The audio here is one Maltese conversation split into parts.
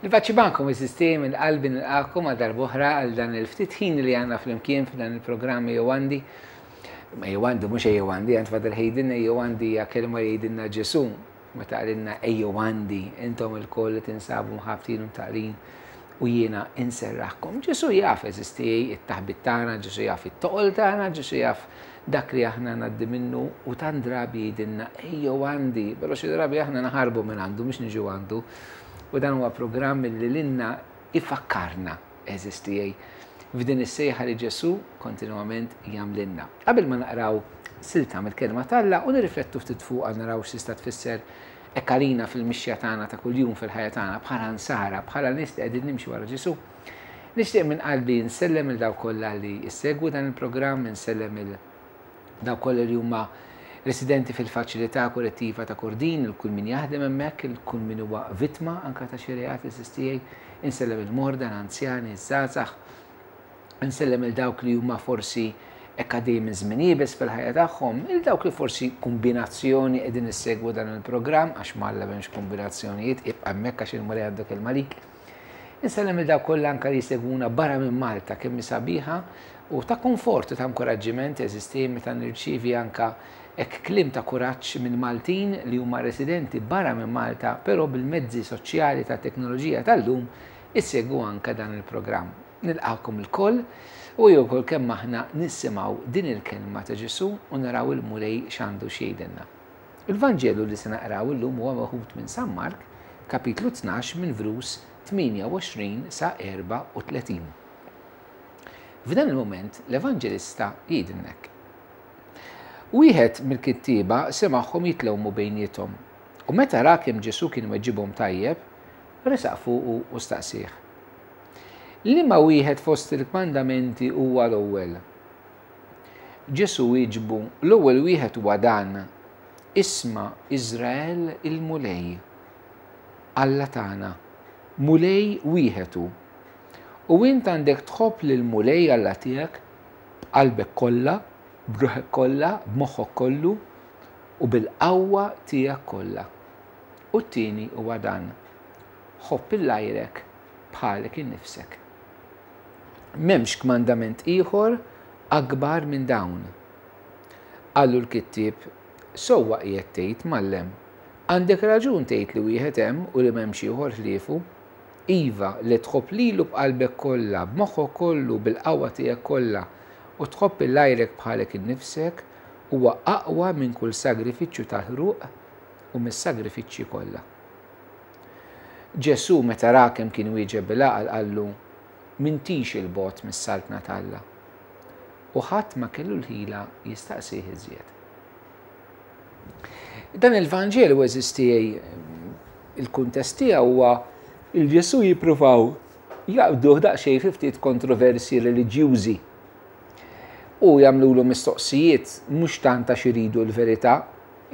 Niffaċċibankom is-sistemi minn qalbi nilqakom għal darb'oħra għal dan il-ftit ħin li għandna flimkien f'dan il-programm Ejjew Għandi. Ma Ejjew Għandi mhux Ejjew Għandi, għand Father Hayden Ejjew Għandi hija kelma li jgħidilna Ġesù meta qalilna Ejjew Għandi intom ilkoll li tinsabu mħabbtin u mtaqlin u jiena inserraħkom. Ġesù jaf eżisti it-taħbit tagħna, Ġesù jaf it-toqol tagħna, Ġesù jaf dak li aħna ngħaddi minnu u tant drabi jgħidilna ejjew għandi, però xi drabi aħna naħarbu minn għandu mhux niġu għandu. U dan huwa programm li lilna ifakkarna għeżież tiegħi f'din is-sejħa li Ġesù kontinwament jagħmlilna. Qabel ma naqraw silta mill-Kelma t'Alla u nirriflettu ftit fuqha naraw x'tista' tfisser hekk għalina fil-mixja tagħna ta' kuljum fil-ħajja tagħna bħala nsara, bħala nies li qegħdin nimxu wara Ġesù. Nixtieq minn qalbi nsellem il dawk kollha li jsegwu dan il-programm, insellem il dawk kollha li huma residenti fil-faċilità korrettiva ta' Kordin, il kull min jaħdem hemmhekk, il kull min huwa vittma anke ta' xi reat għeżież tiegħi, insellem il-morda, l-anzjani, iż-żgħażagħ, Insellem 'il dawk li huma forsi hekk għaddejjin minn żmien iebes fil-ħajja tagħhom, 'il dawk li forsi kumbinazzjoni qegħdin issegwu dan il-programm, għax m'Alla m'hemmx kumbinazzjonijiet, ibqa' hemmhekk għax il-Mulej għandu kelma għalik. Insellem 'il dawk kollha anke li jsegwuna barra minn Malta, kemm hi sabiħa u ta' konfort u ta' inkoraġġiment eżisti meta nirċievi anke hekk kliem ta' kuraġġ minn Maltin li huma residenti barra minn Malta, però bil-mezzi soċjali tat-teknoloġija tal-lum isegwu anke dan il-programm. Nilqagħkom ilkoll u ejjew lkoll kemm aħna nisimgħu din il-kelma ta' Ġesù u naraw il-Mulej x'għandu x'jgħidilna. Il-Vanġelu li se naqraw illum huwa meħud minn San Mark, kapitlu 12 minn vrus 28 sa 34. F'dan il-mument l-Evanġelista jgħidilna hekk. Wieħed mill-kittieba semagħhom jitlewmu bejniethom, u meta ra kemm Ġesù kien weġibhom tajjeb, resaq fuqu u staqsieh. Liema wieħed fost il-kmandamenti huwa l-ewwel? Ġesù wieġbu, L-ewwel wieħed huwa dan, 'Isma', Iżrael, il-Mulej, Alla tagħna, Mulej wieħed hu. U int għandek tħobb lill-Mulej Alla tiegħek b'qalbek kollha, b'ruħek kollha, b'moħħok kollu, u bil-qawwa tiegħek kollha. U t-tieni huwa dan, 'Ħobb 'il għajrek bħalek innifsek. M'hemmx kmandament ieħor akbar minn dawn. Qallu l-kittieb, Sewwa qiegħed tgħid, Mgħallem. Għandek raġun tgħid li wieħed hemm u li m'hemmx ieħor ħliefu. Iva, li tħobb lilu b'qalbek kollha, b'moħħok kollu, bil-qawwa tiegħek kollha, u tħobb 'il għajrek bħalek innifsek, huwa aqwa minn kull sagrifiċċju tal-ħruq u mis-sagrifiċċji kollha. Ġesù, meta ra kemm kien wieġeb bil-għaqal, qallu, M'intix 'il bogħod mis-Saltna t'Alla. U ħadd ma kellu l-ħila jistaqsih iżjed. Dan il-Vanġelu, għeżież tiegħi, il-kuntest tiegħu huwa il Ġesù jippruvaw jaqbduh daqsxejn fi ftit kontroversji reliġjużi. U jagħmlulu mistoqsijiet mhux tant għax iridu l-verità,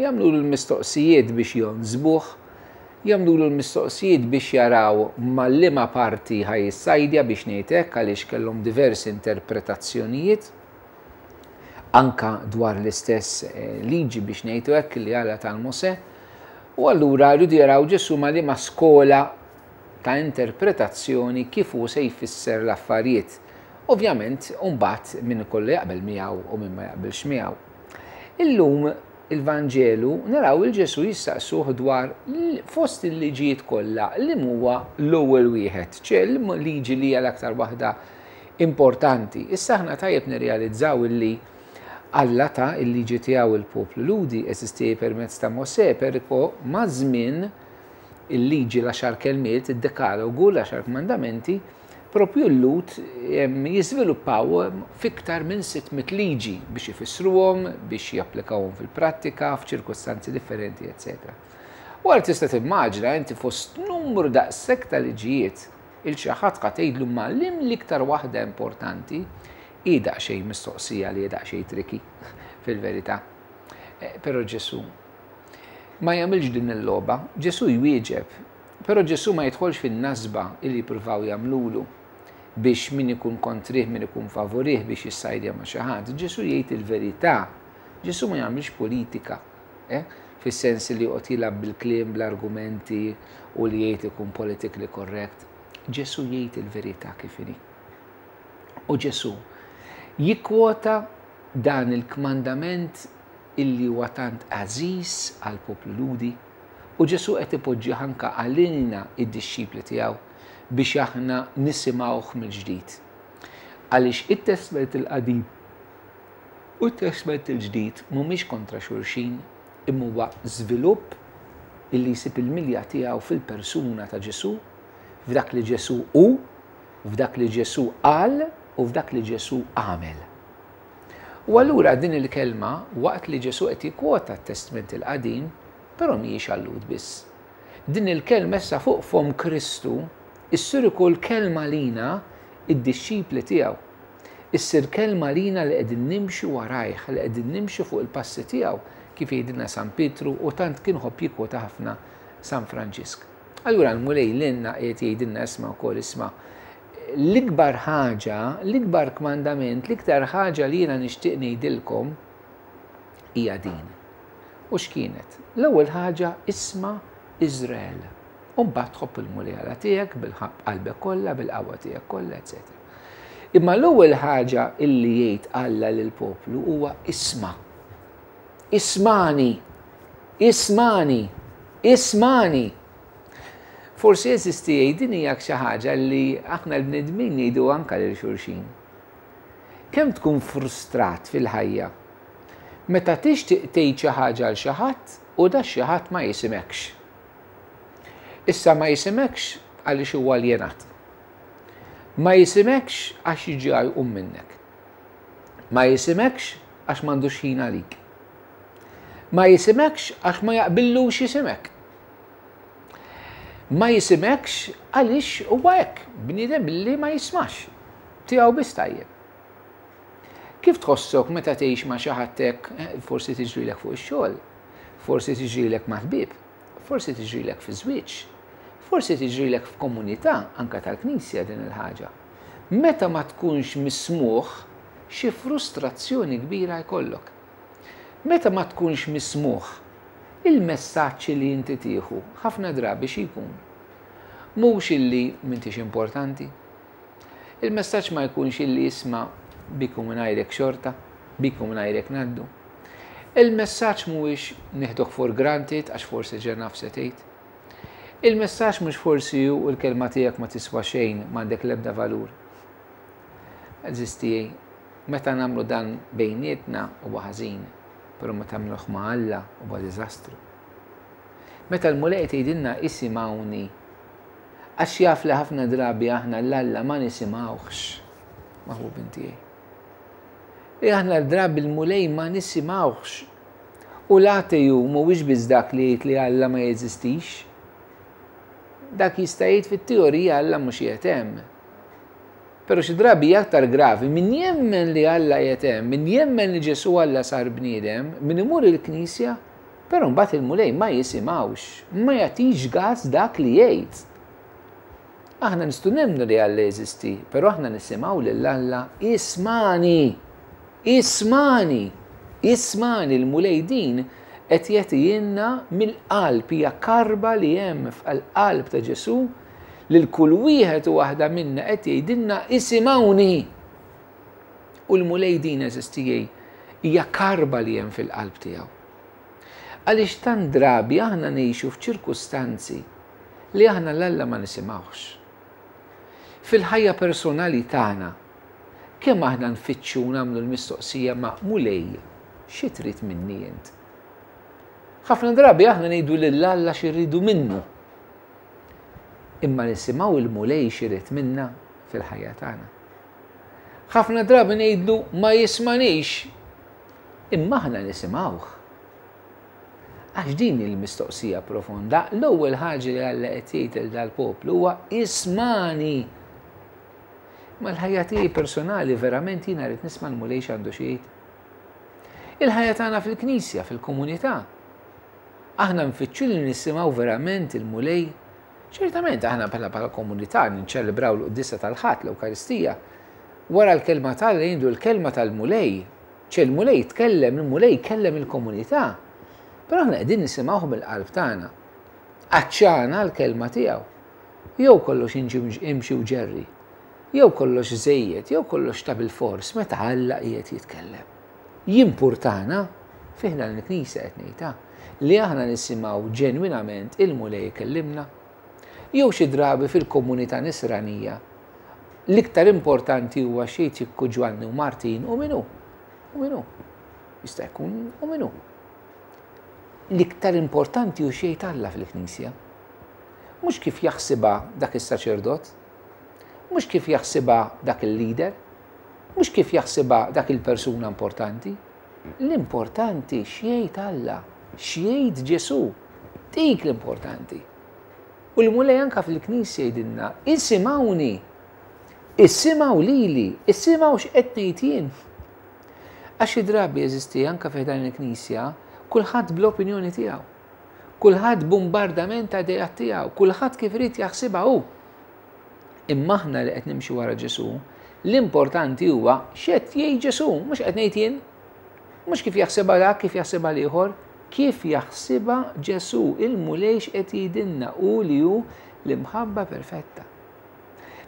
Jagħmlulu l-mistoqsijiet biex jonsbuh, jagħmlulu l-mistoqsijiet biex jaraw ma' liema parti ħa jissajdja biex ngħid hekk għaliex kellhom diversi interpretazzjonijiet anka dwar l-istess eh, liġi biex ngħidu hekk li Alla tal Mosè. U allura rridu jaraw Ġesù ma' liema skola ta' interpretazzjoni kif hu se jfisser l-affarijiet. Ovvjament, mbagħad min ikollu jaqbel miegħu u min ma jaqbilx miegħu. Illum il-Vanġelu naraw il Ġesù jistaqsuh dwar fost il-liġijiet kollha li huwa l-ewwel wieħed, ċe liġi li hija l-aktar waħda importanti. Issa aħna tajjeb nirrealizzaw illi Alla ta il-liġi tiegħu il-poplu Lhudi eżisti permezz ta' Mosè, periko maż-żmien il-liġi l-għaxar kelmiet, id-dekalogu, l-għaxar kmandamenti, Propju l-Lhud jiżviluppaw f'iktar minn 600 liġi biex ifissruhom, biex japplikawhom fil-prattika, f'ċirkustanzi differenti, eċċetera. U għal tista' timmaġina inti fost numru daqshekk ta' liġijiet il xi ħadd ħa tgħidlu ma lim l-iktar waħda importanti hi daqsxejn mistoqsija li hi daqsxejn tricky fil-verità. Eh, però Ġesù ma jagħmilx din il-logħba, Ġesù jwieġeb Però Ġesù ma jidħolx fin-nasba li jippruvaw jagħmlulu biex min ikun kontrih, min ikun favurih biex jissajdja ma' xi ħadd. Ġesù jgħid il-verità. Ġesù ma jagħmilx politika. Eh? fis-sens li joqgħod jilgħab bil-kliem, bl-argumenti u li jgħid ikun politically correct. Ġesù jgħid il-verità kif inhi. U Ġesù jikkwota dan il-kmandament illi huwa tant għażiż għall-poplu Lhudi, u Ġesù qed ipoġġih anke għalina id-dixxipli tiegħu biex aħna nisimgħuh mill-ġdid. Għaliex it-Testment il-Qadim u t-Testment il-Ġdid mhumiex kontra xulxin, imma huwa żvilupp illi jsib il-milja tiegħu fil-persuna ta' Ġesù, f'dak li Ġesù hu, f'dak li Ġesù qal u f'dak li Ġesù għamel. U allura din il-kelma, waqt li Ġesù qed jikkwota t-Testment il-Qadim, però mhijiex għal-Lhud biss. Din il-kelma issa fuq fomm Kristu issir ukoll kelma lina id-dixxipli tiegħu. Issir kelma lina li qegħdin nimxu warajh, li qegħdin nimxu fuq il-passi tiegħu, kif jgħidilna San Pietru u tant kien ħobb jikkwota ħafna San Franġisk. Allura l-Mulej lilna qiegħed jgħidilna isma' wkoll isma' l-ikbar ħaġa, l-ikbar kmandament, l-iktar ħaġa li jiena nixtieq ngħidilkom hija din. U x'kienet? L-ewwel ħaġa isma' Iżrael. U mbagħad tħobb il-Mulej Alla tiegħek bil-qalbek kollha, bil-qawwa tiegħek kollha, eċetera. Imma l-ewwel ħaġa illi jgħid Alla lill-poplu huwa isma'. Ismani! Ismani! Ismani! Forsi għeżież tiegħi din hija xi ħaġa li aħna l-bnedmin ngħidu anke lil xulxin. Kemm tkun frustrat fil-ħajja meta tixtieq tgħid xi ħaġa għal xi ħadd u da xi ħadd ma jisimekx. Issa ma jisimekx għaliex huwa aljenat. Ma jisimekx għax jiġi jqum minnek. Ma jisimekx għax m'għandux ħin għalik. Ma jisimekx għax ma jaqbillux jisimek. Ma jisimekx għaliex huwa hekk, bniedem li ma jismax. Tiegħu biss tajjeb. Kif tħossok meta tgħix ma' xi ħadd hekk, eh, forsi tiġrilek fuq ix-xogħol, forsi tiġrilek ma' ħbieb, forsi tiġrilek fi żwieġ, forsi tiġrilek f'komunità anka tal-Knisja din il-ħaġa. Meta ma tkunx mismugħ, xi frustrazzjoni kbira jkollok. Meta ma tkunx mismugħ, il-messaġġ li inti tieħu ħafna drabi xi jkun? Mhux illi m'intix importanti. Il-messaġġ ma jkunx illi isma' bik u mingħajrek xorta, bik u mingħajrek ngħaddu. Il-messaġġ mhuwiex nieħdok for granted għax forsi ġa naf se tgħid. Il-messaġġ mhux forsi hu l-kelma tiegħek ma tiswa xejn, m'għandek l-ebda valur. Għeżież tiegħi, meta nagħmlu dan bejnietna huwa ħażin, però meta nagħmluh ma' Alla huwa diżastru. Meta l-Mulej qed jgħidilna isimgħuni, għax jaf li ħafna drabi aħna 'l Alla ma nisimgħuhx, maħbubin tiegħi. Li aħna l-drabi l-Mulej ma nisimgħuhx. U l-ateju mhuwiex biss dak li jgħid li Alla ma jeżistix. Dak jista' jgħid fit-teorija Alla mhux qiegħed hemm. Però xi drabi hija aktar gravi min jemmen li Alla qiegħed hemm, min jemmen li Ġesù Alla sar bniedem, min imur il-knisja, Però mbagħad il-Mulej ma jisimgħux, ma jagħtix gas dak li jgħid. Aħna nistgħu nemmnu li Alla jeżisti, però aħna nisimgħu lil Alla ismani, ismani, ismani l-Mulej din qed jagħtihielna mill-qalb, hija karba li hemm fil-qalb ta' Ġesù lil kull wieħed u waħda minna qed jgħidilna isimgħuni. U l-Mulej din għeżież tiegħi hija karba li hemm fil-qalb tiegħu. Għaliex tant drabi aħna ngħixu f'ċirkustanzi li aħna 'l Alla ma nisimgħuhx. Fil-ħajja personali tagħna, kemm aħna nfittxu u nagħmlu l-mistoqsija ma' Mulej, xi trid minni int? Ħafna drabi aħna ngħidu lil Alla xi rridu minnu. Imma nisimgħu il-Mulej x'irid minna fil-ħajja tagħna. Ħafna drabi ngħidlu ma jismanix, imma aħna nisimgħuh. Għax din il-mistoqsija profonda, l-ewwel ħaġa li Alla qed jgħid lil dal-poplu huwa ismani. Ma l-ħajja tiegħi personali verament jiena rrid nisma' l-Mulej x'għandu xi jgħid. Il-ħajja tagħna fil-Knisja, fil-komunità. Aħna nfittxu li nisimgħu verament il-Mulej Ċertament aħna bħala bħala komunità niċċelebraw l-quddiesa tal-Ħadd, l-Ewkaristija. Wara l-kelma ta' Alla jgħidu l-kelma tal-Mulej. Ċe l-Mulej tkellem, il-Mulej kellem il-komunità. Però aħna qegħdin nisimgħuh mill-qalb tagħna. Għatxana l-kelma tiegħu. Jew kollox imxi u ġerri. Jew kollox żejjed, jew kollox ta' bilfors meta Alla qiegħed jitkellem. Jimpurtana, fi ħdan il-Knisja qed ngħidha, li aħna nisimgħu ġenwinament il-Mulej ikellimna. Jew xi drabi fil-komunità nisranija l-iktar importanti huwa xi jgħid Ġwanni u Martin u min hu. U min hu. Jista' jkun u min hu. L-iktar importanti hu x'jgħid Alla fil-Knisja. Mhux kif jaħsibha dak is-saċerdot, mhux kif jaħsibha dak il-leader, mhux kif jaħsibha dak il-persuna importanti. L-importanti x'jgħid Alla, x'jgħid Ġesù. Dik l-importanti. U l-Mulej anka fil-Knisja jgħidilna, isimgħuni, isimgħu lili, isimgħu x'qed ngħid jien. Għax xi drabi jeżisti anka fi dan il-Knisja, kulħadd bl-opinjoni tiegħu. Kulħadd bombardament ta' idejat tiegħu, kulħadd kif irid jaħsibha hu. Imma aħna li qed nimxu wara Ġesù, l-importanti huwa x'qed jgħid Ġesù, mhux qed ngħid jien. Mhux kif jaħsibha dak, kif jaħsibha l-ieħor, kif jaħsibha Ġesù, il-Mulej x'qed jgħidilna hu li hu l-imħabba perfetta.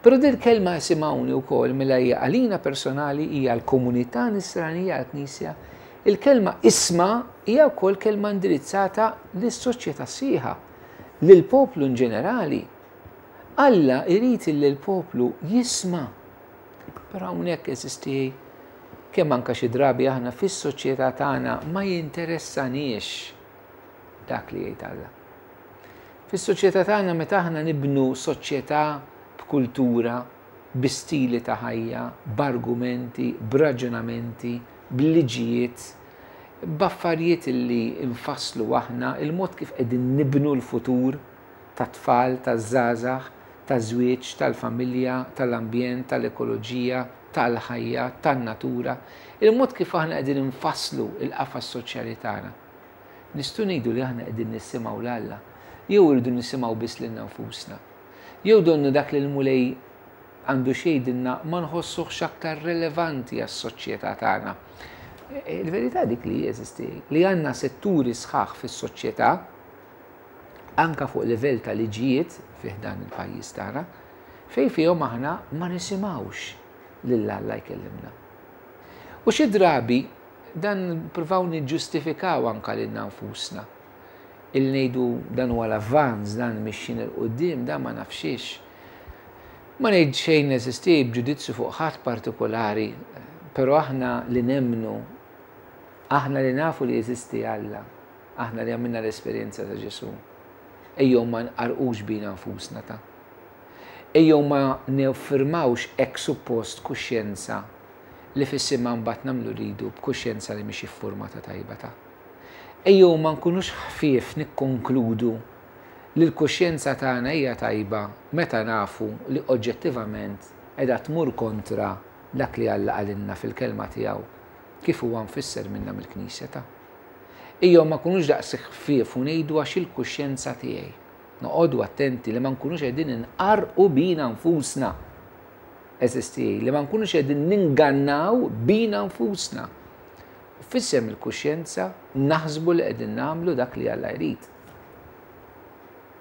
Però din kelma isimgħuni wkoll mela hija għalina personali hija l-komunità nisranija għall-Knisja. Il-kelma isma' hija wkoll kelma indirizzata lis-soċjetà sħiħa, lill-poplu in ġenerali. Alla jrid li l-poplu jisma'. Però hawnhekk eżisti kemm anka xi drabi aħna fis-soċjetà tagħna ma jinteressaniex dak li jgħid Alla. Fis-soċjetà tagħna meta aħna nibnu soċjetà b'kultura, bi stili ta' ħajja, b'argumenti, b'raġunamenti, b'liġijiet, b'affarijiet li nfasslu aħna, il-mod kif qegħdin nibnu l-futur tat-tfal, taż-żgħażagħ, taż-żwieġ, tal-familja, tal-ambjent, tal-ekoloġija, tal-ħajja, tan-natura, il-mod kif aħna qegħdin infasslu l-qafas soċjali tagħna. Nistgħu ngħidu li aħna qegħdin nisimgħu 'l Alla, jew irridu nisimgħu biss lilna nfusna. Jew donnu dak li l-Mulej għandu x'jgħidilna ma nħossuhx aktar relevanti għas-soċjetà tagħna. Il-verità dik li jeżisti, li għandna setturi sħaħ fis-soċjetà, anka fuq livell ta' liġijiet fi ħdan il-pajjiż tagħna, fejn fihom aħna ma nisimgħux lil Alla jkellimna. U xi drabi dan nippruvaw niġġustifikaw anka lilna nfusna. Il ngħidu dan huwa l-avvanz, dan mixjin 'il quddiem, dan ma nafxiex. Ma ngħid xejn eżisti b'ġudizzju fuq ħadd partikolari, però aħna li nemmnu, aħna li nafu li jeżisti Alla, aħna li għamilna l-esperjenza ta' Ġesù, ejjew ma nqarrqux bina nfusna ta'. Ejjew ma niffirmawx hekk suppost kuxjenza li f'isimha mbagħad nagħmlu rridu b'kuxjenza li mhix iffurmata tajba ta'. Ejjew ma nkunux ħfief nikkonkludu li l-kuxjenza tagħna hija tajba meta nafu li oġġettivament qiegħda tmur kontra dak li Alla qalilna fil-Kelma tiegħu kif huwa mfisser minna mill-Knisja ta'. Ejjew ma nkunux daqshekk ħfief u ngħidu għax il-kuxjenza tiegħi. Noqogħdu attenti li ma nkunux qegħdin inqarrqu bina nfusna. Għeżież tiegħi, li ma nkunux qegħdin ningannaw bina nfusna. U f'isem il-kuxjenza naħsbu li qegħdin nagħmlu dak li Alla jrid.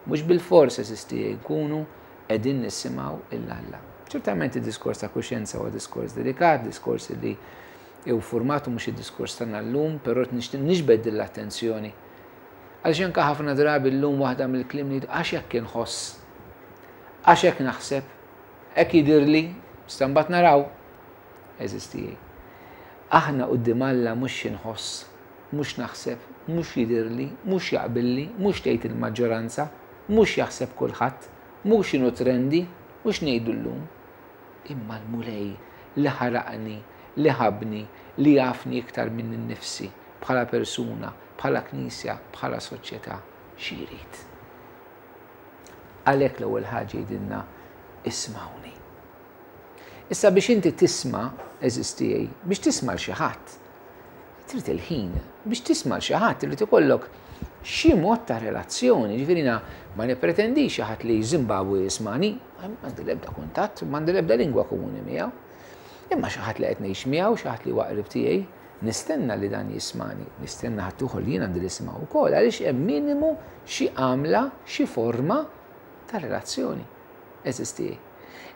Mhux bilfors għeżież tiegħi nkunu qegħdin nisimgħu 'l Alla. Ċertament id-diskors ta' kuxjenza huwa diskors delikat, diskors li jew formatu mhux id-diskors tagħna llum, però nixtieq niġbed din l-attenzjoni. Għaliex anke ħafna drabi llum waħda mill-kliem li għax hekk inħoss, għax hekk naħseb, hekk jidhirli, issa mbagħad naraw. Għeżież tiegħi. Aħna quddiem Alla mhux xi nħoss, mhux naħseb, mhux jidhirli, mhux jaqbilli, mhux tgħid il-maġġoranza, mhux jaħseb kulħadd, mhux x'inhu trendy, mhux ngħidu llum. Imma l-Mulej li ħalaqni, li ħabbni, li jafni iktar minni nnifsi, bħala persuna, bħala Knisja, bħala soċjetà, xi jrid? Għalhekk l-ewwel ħaġa jgħidilna ismgħuni. Issa biex inti tisma', għeżież tiegħi, biex tisma' 'l xi ħadd, trid il-ħin. Biex tisma' 'l xi ħadd irid ikollok xi mod ta' relazzjoni. Ġifieri jiena ma nippretendix xi ħadd li Zimbabwe jismani, m'għandi l-ebda kuntatt, m'għandi l-ebda lingwa komuni miegħu. Imma xi ħadd li qed ngħix miegħu, xi ħadd li huwa qrib tiegħi, Nistenna li dan jismani, nistenna ħaddieħor li jien għandi nismgħu wkoll għaliex hemm minimu xi għamla, xi forma ta' relazzjoni. Eżisti.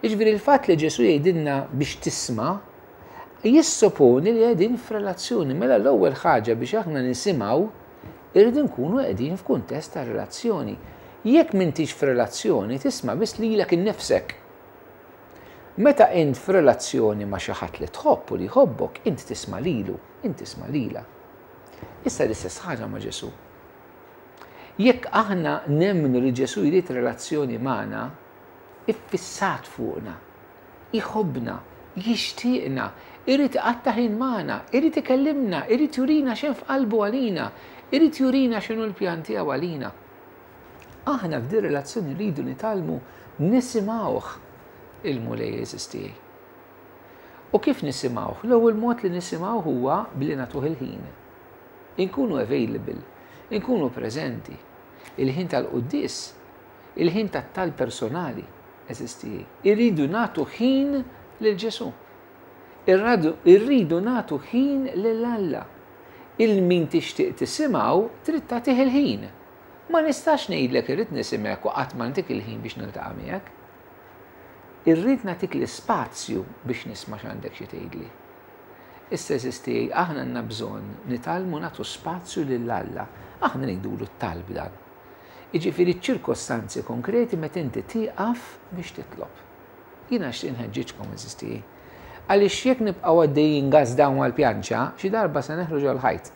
Jiġifieri l-fatt li Ġesù jgħidilna biex tisma' jissoponi li qegħdin f'relazzjoni. Mela l-ewwel ħaġa biex aħna nisimgħu irridu nkunu qegħdin f'kuntest ta' relazzjoni. Jekk m'intix f'relazzjoni tisma' biss lilek innifsek. Meta int f'relazzjoni ma' xi ħadd li tħobb u li jħobbok, int tisma' lilu, int tisma' lilha. Issa l-istess ħaġa ma' Ġesù. Jekk aħna nemmnu li Ġesù jrid relazzjoni magħna, iffissat fuqna, jħobbna, jixtieqna, irid iqatta' ħin magħna, irid ikellimna, irid jurina x'hemm f'qalbu għalina, irid jurina x'inhu l-pjan tiegħu għalina. Aħna f'din relazzjoni rridu nitgħallmu nisimgħuh il-Mulej għeżież tiegħi. U kif nisimgħuh? L-ewwel mod li nisimgħuh huwa billi nagħtuh il-ħin. Inkunu available, inkunu preżenti. Il-ħin tal-quddies, il-ħin tat-talb personali, għeżież tiegħi. Irridu nagħtu ħin lil Ġesù. Irridu nagħtu ħin lil Alla. Il min tixtieq tisimgħu trid tagħtih il-ħin. Ma nistax ngħidlek irrid nisimgħek u qatt ma ntik il-ħin biex niltaqa' miegħek. Irrid nagħtik l-ispazju biex nisma' x'għandek xi tgħidli. Issa għeżież tiegħi aħna għandna bżonn nitgħallmu nagħtu spazju lil Alla. Aħna ngħidulu t-talb dan. Jiġifieri ċ-ċirkostanzi konkreti meta inti tieqaf biex titlob. Jiena nixtieq nħeġġiġkom għeżież tiegħi. Għaliex jekk nibqgħu għaddejjin gas down mal-pjanċa, xi darba se neħlu ġol-ħajt.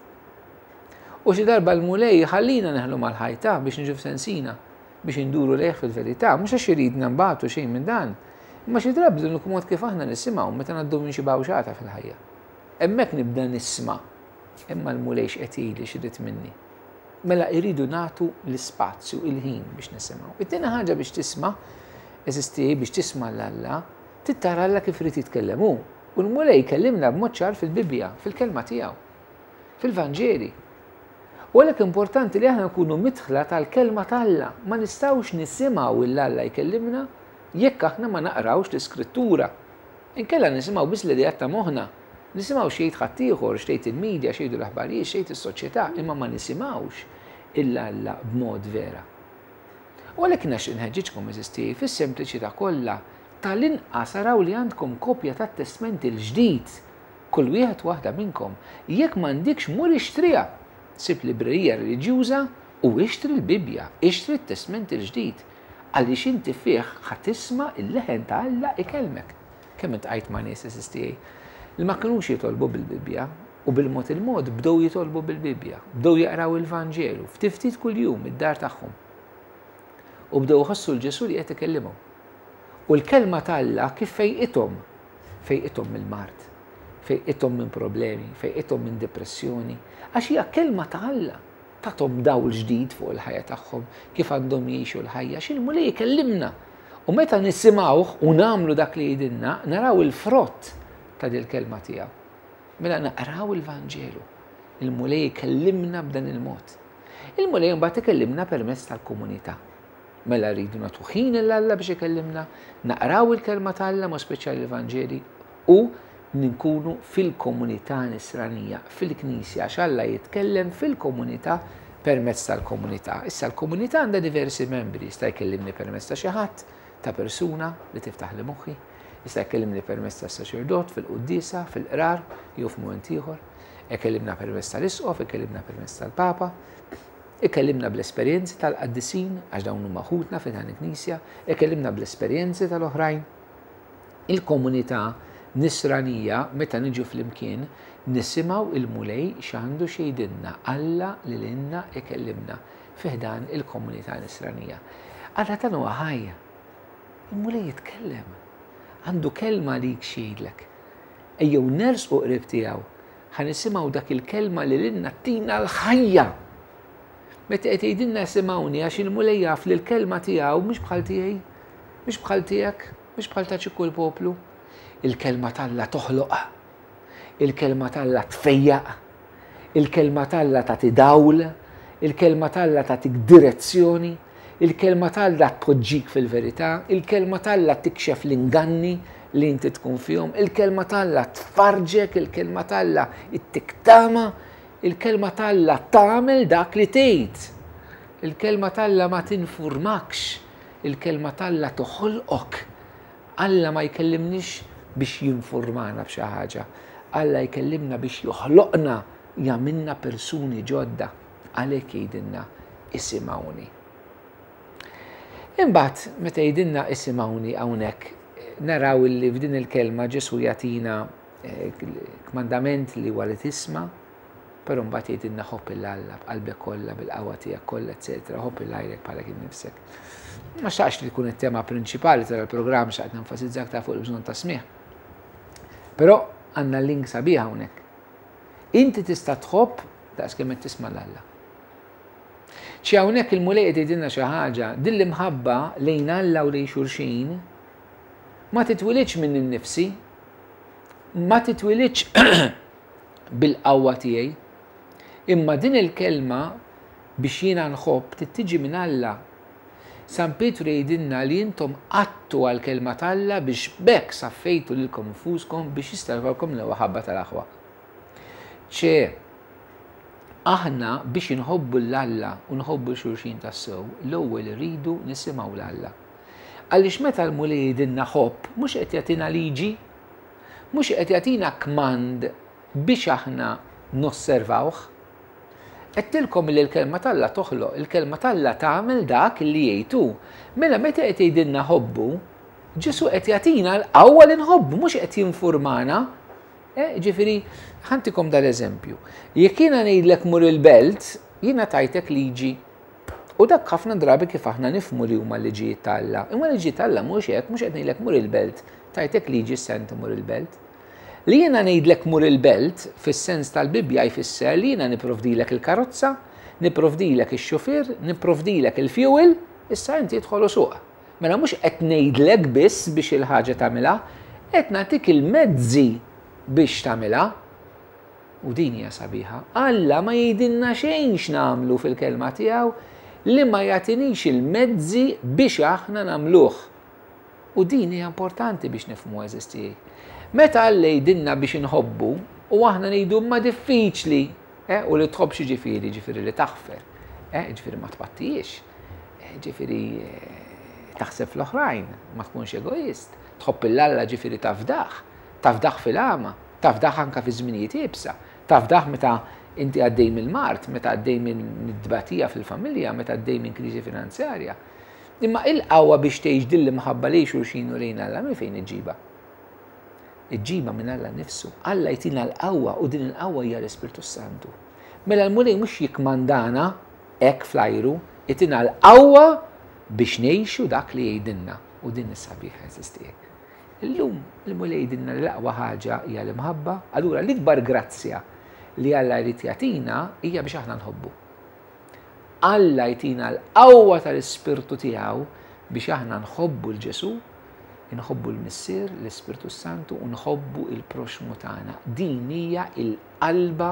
U xi darba l-Mulej jħallina neħlu mal-ħajta biex niġu f'sensina, biex induru lejh fil-verità, mhux għax iridna nbatu xejn minn dan, imma xi drabi l-uniku mod kif aħna nisimgħu meta ngħaddu minn xi bawxata fil-ħajja. Hemmhekk nibda nisma' imma l-Mulej x'qed jgħidli x'irid minni. Mela irridu nagħtu l-ispazju, il-ħin biex nisimgħu. It-tieni ħaġa biex tisma' eżisti biex tisma' 'l Alla, trid tara Alla kif irid jitkellem hu. U l-Mulej jkellimna b'mod ċar fil-Bibbja, fil-kelma tiegħu. Fil-Vanġeli. U għalhekk importanti li aħna nkunu midħla tal-Kelma t'Alla. Ma nistgħux nisimgħu 'l Alla jkellimna jekk aħna ma naqrawx l-Iskrittura. Inkella nisimgħu biss l-ideat ta' moħħna. Nisimgħu x'jgħid ħaddieħor, x'tgħid il-media, x'jgħidu l-aħbarijiet, x'tgħid is-soċjetà, imma ma nisimgħux 'il Alla b'mod vera. U għalhekk nixtieq inħeġġiġkom, għeżież tiegħi, fis-sempliċità kollha, tal-inqas araw li għandkom kopja tat-Testment il-Ġdid Kull wieħed u waħda minnkom, jekk m'għandikx mur ixtriha! Sib librerija reliġjuża u ixtri l-Bibbja, ixtri t-Testment il-Ġdid, għaliex inti fih ħa tisma' l-leħen ta' Alla ikellmek. Kemm iltqajt ma' nies, għeżież tiegħi, li ma kinux jitolbu bil-Bibbja u bil-mod il-mod bdew jitolbu bil-Bibbja, bdew jaqraw il-Vanġelu ftit ftit kuljum id-dar tagħhom. U bdew iħossu 'l Ġesù li qed ikellimhom. U l-Kelma ta' Alla kif fejqithom Fejqithom mill-mard, fejqithom minn problemi, fejqithom minn dipressjoni, għax hija kelma ta' Alla. Tathom dawl ġdid fuq il-ħajja tagħhom, kif għandhom jgħixu l-ħajja, għax il-Mulej ikellimna. U meta nisimgħuh u nagħmlu dak li jgħidilna, naraw il-frott ta' dil-kelma tiegħu. Mela naqraw il-Vanġelu. Il-Mulej ikellimna b'dan il-mod. Il-Mulej imbagħad ikellimna permezz tal-komunità. Mela rridu nagħtu ħin lil Alla biex ikellimna, naqraw il-kelma ta' Alla, mod speċjali l-Vanġeli, u ninkunu fil-komunità nisranija, fil-Knisja, għax Alla jitkellem fil-komunità permezz tal-komunità. Issa l-komunità għandha diversi membri, jista' jkellimni permezz ta' xi ħadd, ta' persuna li tiftaħli moħħi, jista' jkellimni permezz ta' saċerdot fil-quddiesa, fil-qrar, jew f'mument ieħor, ikellimna permezz tal-isqof, ikellimna permezz tal-papa, Ikellimna bl-esperjenzi tal-qaddisin, għax dawn huma ħutna fi dan il-Knisja, ikellimna bl-esperjenzi tal-oħrajn. Il-komunità nisranija meta niġu flimkien nisimgħu il-Mulej x'għandu x'jgħidilna, Alla li lilna ikellimna fi ħdan il-komunità nisranija. Alla tagħna huwa ħaj. Il-Mulej jitkellem. Għandu kelma għalik x'jgħidlek. Ejjew nersqu qrib tiegħu Ħa nisimgħu dak il-kelma li lilna ttina l-ħajja. Meta qed jgħidilna isimgħuni għax il-Mulej jaf li l-kelma tiegħu mhix bħal tiegħi, mhix bħal tiegħek, mhix bħal ta' ċikku l-poplu. Il-kelma t'Alla toħloq. Il-kelma t'Alla tfejjaq. Il-kelma t'Alla tagħti dawl. Il-kelma t'Alla tagħtik direzzjoni. Il-kelma t'Alla tpoġġik fil-verità, il-kelma t'Alla tikxef l-inganni li inti tkun fihom, il-kelma t'Alla tfarġek, il-kelma t'Alla ittik tama, il-kelma t'Alla tagħmel dak li tgħid. Il-kelma t'Alla ma tinfurmakx, il-kelma t'Alla toħolqok. Alla ma jkellimniex biex jinfurmana b'xi ħaġa. Alla jkellimna biex joħloqna, jagħmilna persuni ġodda. Għalhekk jgħidilna isimgħuni. Imbagħad meta jgħidilna isimgħuni hawnhekk naraw illi f'din il-kelma Ġesù jagħtina eh, kmandament li huwa li tisma' Però mbagħad jgħidilna ħobb 'il Alla b'qalbek kollha, bil-qawwa tiegħek kollha, eċetera, ħobb 'il għajrek bħalek innifsek. Ma xtaqx li tkun it-tema prinċipali tal-programm xtaqt nenfasizza aktar fuq il-bżonn ta' smigħ. Però għandna link sabiħ hawnhekk. Inti tista' tħobb daqs kemm qed tisma' 'l Alla. Xi hawnhekk il-Mulej qed jgħidilna xi ħaġa, din l-imħabba lejn Alla u lejn xulxin ma titwilidx minn innifsi, ma titwilidx bil-qawwa tiegħi. Imma din il-kelma biex jiena nħobb trid tiġi minn Alla. San Pietru jgħidilna li intom qgħadtu għall-kelma t'Alla biex b'hekk saffejtu lilkom infuskom biex jista' jkollkom l-ewwel ħabba tal-aħwa. Ċe, aħna biex inħobbu 'l Alla u nħobbu 'l xulxin tassew, l-ewwel irridu nisimgħu 'l Alla. Għaliex meta l-Mulej jgħidilna ħobb, mhux qed jagħtina liġi, Mhux qed jagħtina kmand biex aħna nosservawh. Għedtilkom li l-kelma t'Alla toħloq, il-kelma t'Alla tagħmel dak li jgħid hu. Mela meta qed jgħidilna ħobbu, Ġesù qed jagħtina l-qawwa li nħobbu, mhux qed jinfurmana. Eh, ġifieri, ħantikom dal-eżempju. Jekk jiena ngħidlek mur il-belt, jiena tajtek liġi. U dak ħafna drabi kif aħna nifhmu li huma l-liġijiet ta' Alla. Imma l-liġijiet ta' Alla mhux hekk, mhux qed ngħidlek mur il-belt, tajtek liġi issa inti mur il-belt. Li jiena ngħidlek mur il-belt fis-sens tal-Bibbja jfisser li jiena nipprovdilek il-karozza, nipprovdilek ix-xufier, nipprovdilek il-fuel, issa inti idħol u suq. Mela mhux qed ngħidlek biss biex il-ħaġa tagħmilha, qed nagħtik il-mezzi biex tagħmilha. U din hija sabiħa. Alla ma jgħidilna xejn x'nagħmlu fil-kelma tiegħu li ma jagħtinix il-mezzi biex aħna nagħmluh. U din hija importanti biex nifhmu għeżież tiegħi. Meta Alla jgħidilna biex inħobbu u aħna ngħidu imma diffiċli, eh, u li tħobb xi ġifieri, ġifieri li taħfer, eh, ġifieri ma tpattijiex, eh, ġifieri eh, taħseb fl-oħrajn, ma tkunx egoist, tħobb il-Alla ġifieri tafdah, tafdah fil-għama, tafdah anka fi żminijiet iebsa, tafdah meta inti għaddej mill-mard, meta għaddej minn tbatija fil-familja, meta għaddej minn kriżi finanzjarja. Imma il-qawwa biex tgħix din l-imħabba lejn xulxin u lejn Alla minn fejn iġġibha? Iġġibha minn Alla nnifsu. Alla jtina l-qawwa u din il-qawwa hija l-Ispirtu Santu. Mela l-Mulej mhux jikkmandana hekk fl-ajru, itina l-qawwa biex ngħixu dak li jgħidilna u din is-sabiħa għeżież tiegħi. Illum il-Mulej jgħidilna li l-aqwa ħaġa hija l-imħabba, allura l-ikbar grazzja li Alla jrid jagħtina hija biex aħna nħobbu. Alla jtina l-qawwa tal-Ispirtu tiegħu biex aħna nħobbu 'l Ġesù, inħobbu l-Missier, l-Ispirtu s-Santu u nħobbu l-proxxmu tagħna. Din hija l-qalba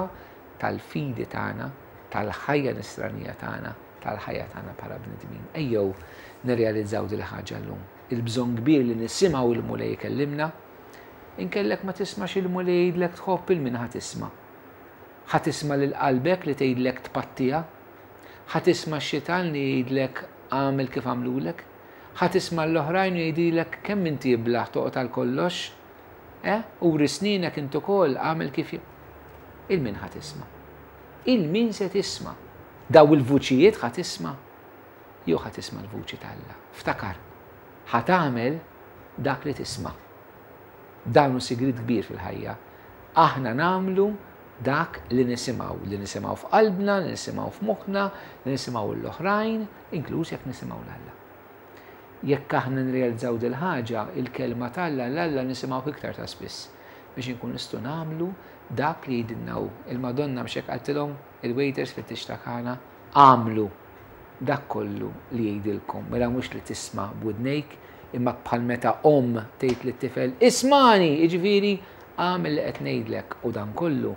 tal-fidi tagħna, tal-ħajja nisranija tagħna, tal-ħajja tagħna bħala bnedmin. Ejjew nirrealizzaw din il-ħaġa llum. Il-bżonn kbir li nisimgħu l-Mulej ikellimna, inkellek ma tismax il-Mulej jgħidlek tħobb 'il min ħa tisma'. Ħa tisma' lil qalbek li tgħidlek tpattiha? Ħa tisma' x-xitan li jgħidlek agħmel kif għamlulek? Ħa tisma' l-oħrajn u jgħidilek kemm inti iblah toqgħod għal kollox? Eh? Uri snienek int ukoll, agħmel kif Il min ħa tisma'? Il min se tisma'? Daw il-vuċijiet ħa tisma'? Jew ħa tisma' l-vuċi t'Alla? Ftakar, ħa tagħmel dak li tisma'. Dan hu sigriet kbir fil-ħajja. Aħna nagħmlu dak li nisimgħu, li nisimgħu f'qalbna, li nisimgħu f'moħħna, li nisimgħu l-oħrajn, inkluż jekk nisimgħu 'l Alla. Jekk aħna nirrealizzaw dil-ħaġa, il-kelma t'Alla 'l Alla nisimgħuh iktar ta' spiss biex inkunu nistgħu nagħmlu dak li jgħidilna hu. Il-Madonna mhux hekk qaltilhom il-waiters fit-tieġ ta' Kana, agħmlu dak kollu li jgħidilkom. Mela mhux li tisma' b'widnejk, imma bħal meta omm tgħid lit-tifel, ismagħni, jiġifieri agħmel li qed ngħidlek u dan kollu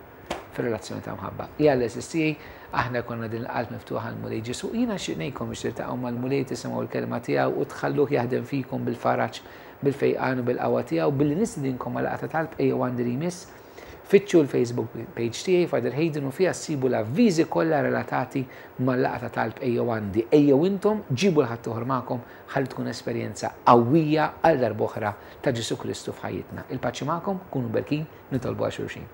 fir-relazzjoni ta' mħabba. Jalla għeżież tiegħi, aħna jkollna din il-qalb miftuħa għall-Mulej Ġesù. Jiena nixtieq ngħidkom biex tiltaqgħu mal-Mulej, tisimgħu l-kelma tiegħu u tħalluh jaħdem fikom bil-faraġ, bil-fejqan u bil-qawwa tiegħu billi nistedinkom għal laqgħa ta' talb Ejjew Għandi li jmiss. Fittxu l-Facebook page tiegħi Father Hayden u fiha ssibu l-avviżi kollha relatati mal-laqgħa ta' talb Ejjew Għandi. Ejjew intom, ġibu 'l ħaddieħor magħkom ħalli tkun esperjenza qawwija għal darb'oħra ta' Ġesù Kristu f'ħajjitna. Il-paċi magħkom, kunu mberkin, nitolbu għal xulxin.